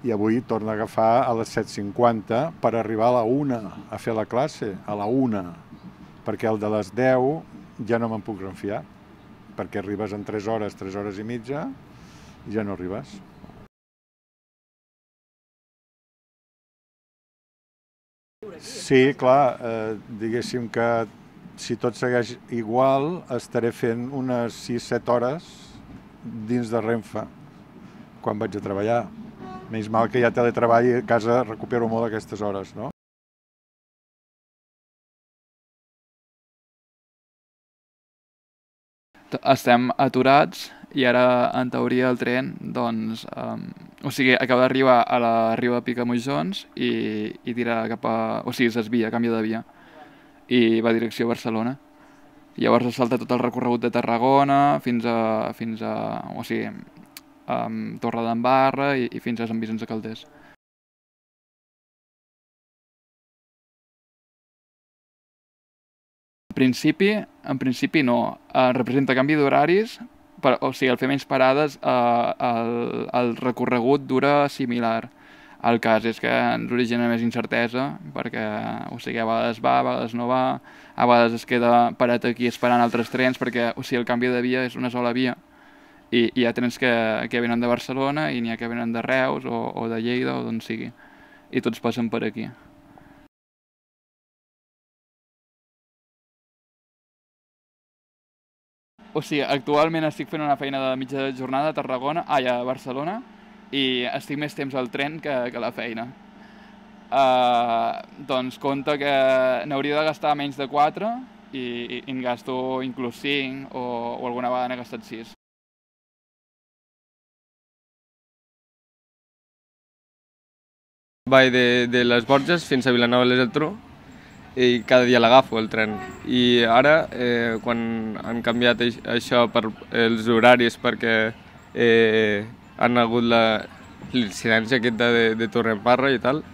i avui torno a agafar a les 7:50 per arribar a la 1 a fer la classe, a la 1, perquè el de les 10 ja no me'n puc renfiar, perquè arribes en 3 hores i mitja, i ja no arribes. Sí, clar, diguéssim que si tot segueix igual, estaré fent unes 6-7 hores dins de Renfe, quan vaig a treballar. Menys mal que hi ha teletreball i a casa recupero molt aquestes hores, no? Estem aturats i ara, en teoria, el tren, doncs, o sigui, acaba d'arribar a la Riba de Picamoixons i tira cap a... O sigui, s'esvia, canvia de via, i va direcció a Barcelona. Llavors es salta tot el recorregut de Tarragona fins a o sigui, Torredembarra i fins a Sant Vicenç de Calders. En principi no. Representa canvi d'horaris, o sigui, al fer menys parades el recorregut dura similar. El cas és que ens origina més incertesa, perquè o sigui, a vegades va, a vegades no va, a vegades es queda parat aquí esperant altres trens, perquè o sigui, el canvi de via és una sola via, i hi ha trens que venen de Barcelona i n'hi ha que venen de Reus o de Lleida o d'on sigui, i tots passen per aquí. O sigui, actualment estic fent una feina de mitja jornada a Tarragona, a Barcelona, i estic més temps al tren que a la feina. Doncs compte que n'hauria de gastar menys de 4 i en gasto inclús 5 o alguna vegada n'he gastat 6. Vaig de les Borges fins a Vilanova i la Geltrú i cada dia l'agafo, el tren. I ara, quan han canviat això per els horaris perquè han hagut l'incidència aquesta de Torredembarra i tal,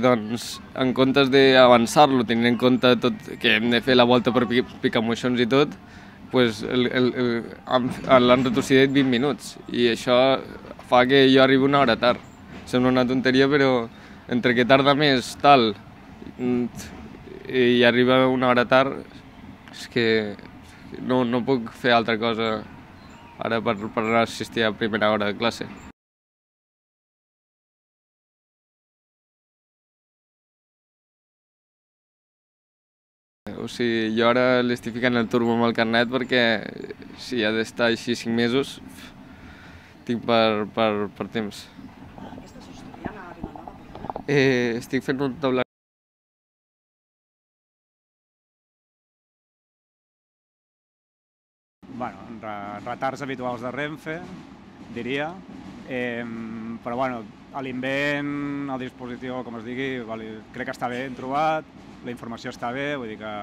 doncs en comptes d'avançar-lo, tenint en compte tot que hem de fer la volta per Picamoixons i tot, l'han retrocedit 20 minuts i això fa que jo arribi una hora tard. Sembla una tonteria, però entre que tarda més tal i arriba una hora tard, és que no puc fer altra cosa ara per assistir a primera hora de classe. O sigui, jo ara l'estic ficant el turbo amb el carnet perquè si ha d'estar així 5 mesos, tinc per temps. Estàs estudiant a Vilanova? Estic fent un taulat. Bueno, retards habituals de Renfe, diria, però bueno, a l'invent, el dispositiu, com es digui, crec que està ben trobat, la informació està bé, vull dir que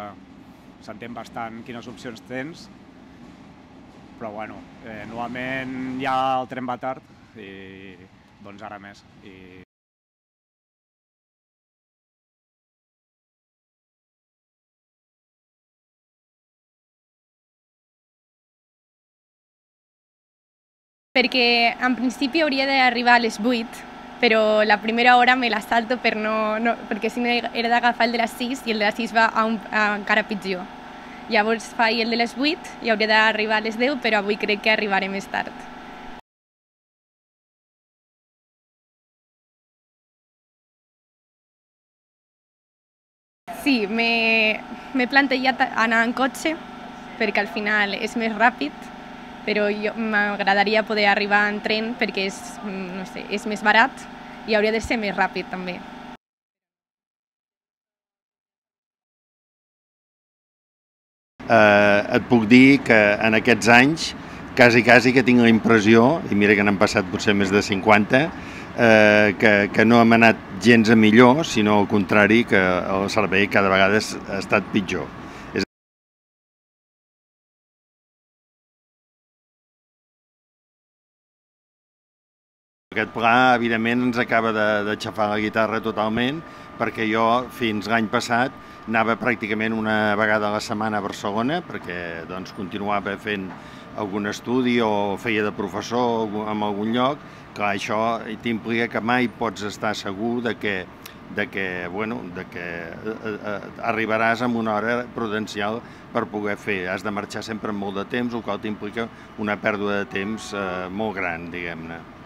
s'entén bastant quines opcions tens, però bueno, normalment ja el tren va tard i doncs ara més. Perquè en principi hauria d'arribar a les 8, però la primera hora me la salto perquè si no era d'agafar el de les 6 i el de les 6 va encara pitjor. Llavors faig el de les 8 i hauria d'arribar a les 10, però avui crec que arribaré més tard. Sí, m'he plantejat anar en cotxe perquè al final és més ràpid, però m'agradaria poder arribar en tren perquè és més barat i hauria de ser més ràpid també. Et puc dir que en aquests anys quasi que tinc la impressió, i mira que n'han passat potser més de 50, que no hem anat gens a millor, sinó al contrari, que el servei cada vegada ha estat pitjor. Aquest pla, evidentment, ens acaba de xafar la guitarra totalment, perquè jo fins l'any passat anava pràcticament una vegada a la setmana a Barcelona, perquè doncs, continuava fent algun estudi o feia de professor en algun lloc, clar, això t'implica que mai pots estar segur de que arribaràs amb una hora prudencial per poder fer. Has de marxar sempre amb molt de temps, el qual t'implica una pèrdua de temps molt gran, diguem-ne.